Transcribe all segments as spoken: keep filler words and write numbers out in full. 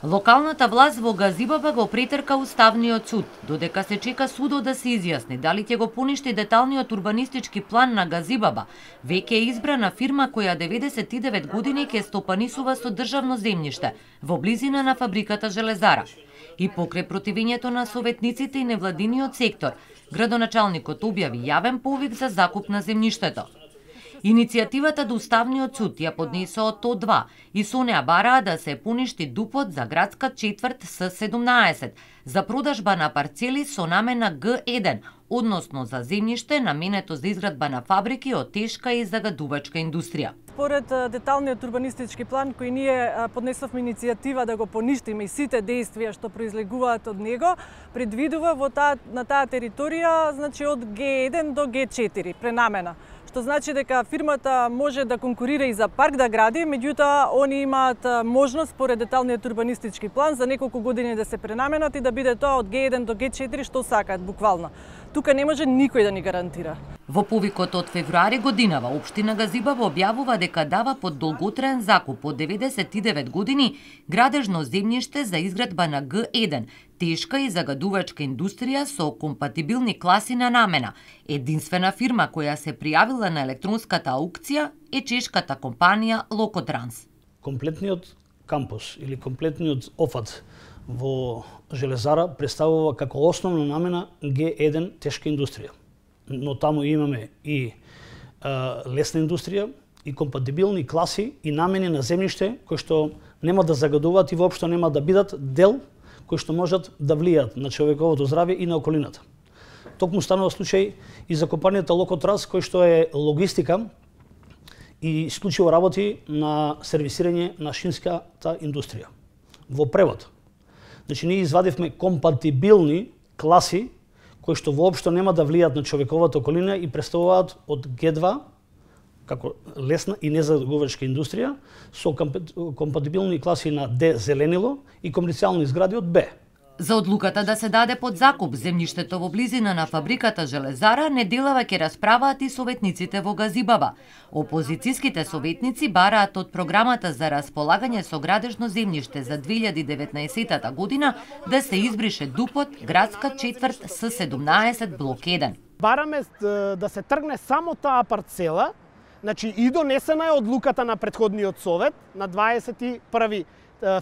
Локалната власт во Газибаба го претрка Уставниот суд, додека се чека судот да се изјасни дали ќе го поништи деталниот урбанистички план на Газибаба. Веќе е избрана фирма која деветдесет и девет години ќе стопанисува со државно земјиште во близина на фабриката Железара. И покрај противењето на советниците и невладиниот сектор, градоначалникот објави јавен повик за закуп на земјиштето. Иницијативата до Уставниот суд ја поднесоа Т два и со неа бараа да се поништи ДУП-от за градска четврт С седумнаесет за продажба на парцели со намена Г еден, односно за земјиште наменето за изградба на фабрики од тешка и загадувачка индустрија. Според деталниот урбанистички план кој ние поднесовме иницијатива да го поништиме и сите действија што произлегуваат од него, предвидува во таа на таа територија, значи од Г еден до Г четири пренамена. Што значи дека фирмата може да конкурира и за парк да гради, меѓутоа они имаат можност според деталниот урбанистички план за неколку години да се пренаменат и да биде тоа од Г еден до Г четири што сакаат буквално. Тука не може никој да ни гарантира. Во повикот од февруари годинава, Општина Газибаба објавува дека дава под долготраен закуп од деветдесет и девет години градежно земјиште за изградба на Г еден, тешка и загадувачка индустрија со компатибилни класи на намена. Единствена фирма која се пријавила на електронската аукција е чешката компанија Локотранс. Комплетниот кампус или комплетниот офат во Железара представува како основна намена Г еден тешка индустрија. Но таму имаме и а, лесна индустрија, и компатибилни класи и намени на земјиште кои што нема да загадуваат и воопшто нема да бидат дел кои што можат да влијаат на човековото здравје и на околината. Токму станува случај и за компанијата Локотранс кој што е логистика и исклучиво работи на сервисирање на шинската индустрија. Во превод, значи ние извадивме компатибилни класи кои што воопшто нема да влијаат на човековата околина и представуваат од Г два како лесна и незагадувачка индустрија со компатибилни класи на Д зеленило и комерцијални згради од Б. За одлуката да се даде под закуп земјиштето во близина на фабриката Железара неделава ќе расправаат и советниците во Газибаба. Опозицијските советници бараат од програмата за располагање со градежно земјиште за две илјади и деветнаесетта година да се избрише ДУП-от градска четврт С седумнаесет блок еден. Бараме да се тргне само таа парцела, значи и донесена е одлуката на претходниот совет на дваесет и први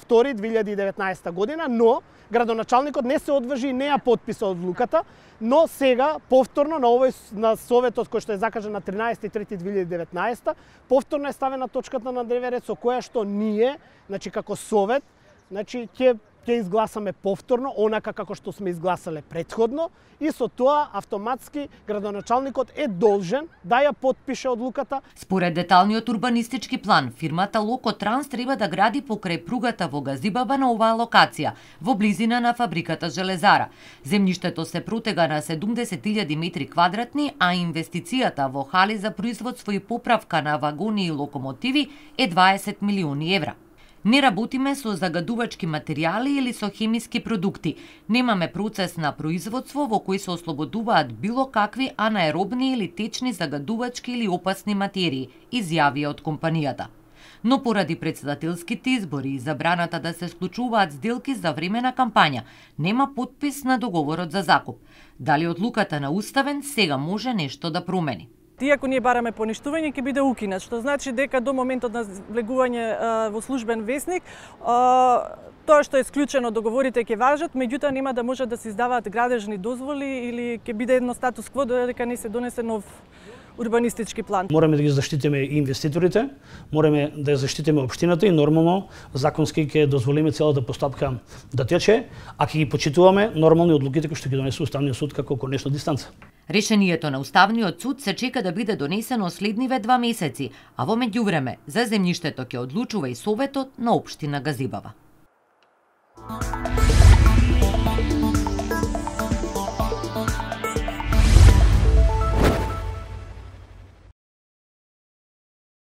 втори две илјади и деветнаесетта година, но градоначалникот не се одважи и не ја потписа одлуката, но сега повторно на овој на советот кој што е закажан на тринаесети трети две илјади и деветнаесетта, повторно е ставена точката на дневен ред со која што ние, значи како совет, значи ќе ќе изгласаме повторно онака како што сме изгласале претходно и со тоа автоматски градоначалникот е должен да ја потпише одлуката. Според деталниот урбанистички план, фирмата Локотранс треба да гради покрај пругата во Газибаба на оваа локација, во близина на фабриката Железара. Земјиштето се протега на седумдесет илјади метри квадратни, а инвестицијата во хали за производство и поправка на вагони и локомотиви е дваесет милиони евра. Не работиме со загадувачки материјали или со хемиски продукти. Немаме процес на производство во кој се ослободуваат било какви анаеробни или течни загадувачки или опасни материи, изјавија од компанијата. Но поради претседателските избори и забраната да се склучуваат сделки за време на кампања, нема потпис на договорот за закуп. Дали одлуката на Уставен сега може нешто да промени? Иако ние бараме поништување, ќе биде укинат, што значи дека до моментот на влегување во службен весник, тоа што е исклучено договорите ќе важат, меѓутоа нема да може да се издаваат градежни дозволи или ќе биде едно статус кво додека не се донесе нов урбанистички план. Мораме да ги заштитиме и инвеститорите, мораме да ја заштитиме општината и нормално законски ќе дозволиме целата постапка да тече, а ќе ги почитуваме нормални одлуките кои што ги донесе Уставниот суд како конечна дистанца. Решението на Уставниот суд се чека да биде донесено следниве два месеци, а во меѓувреме за земјиштето ќе одлучува и Советот на Општина Газибаба.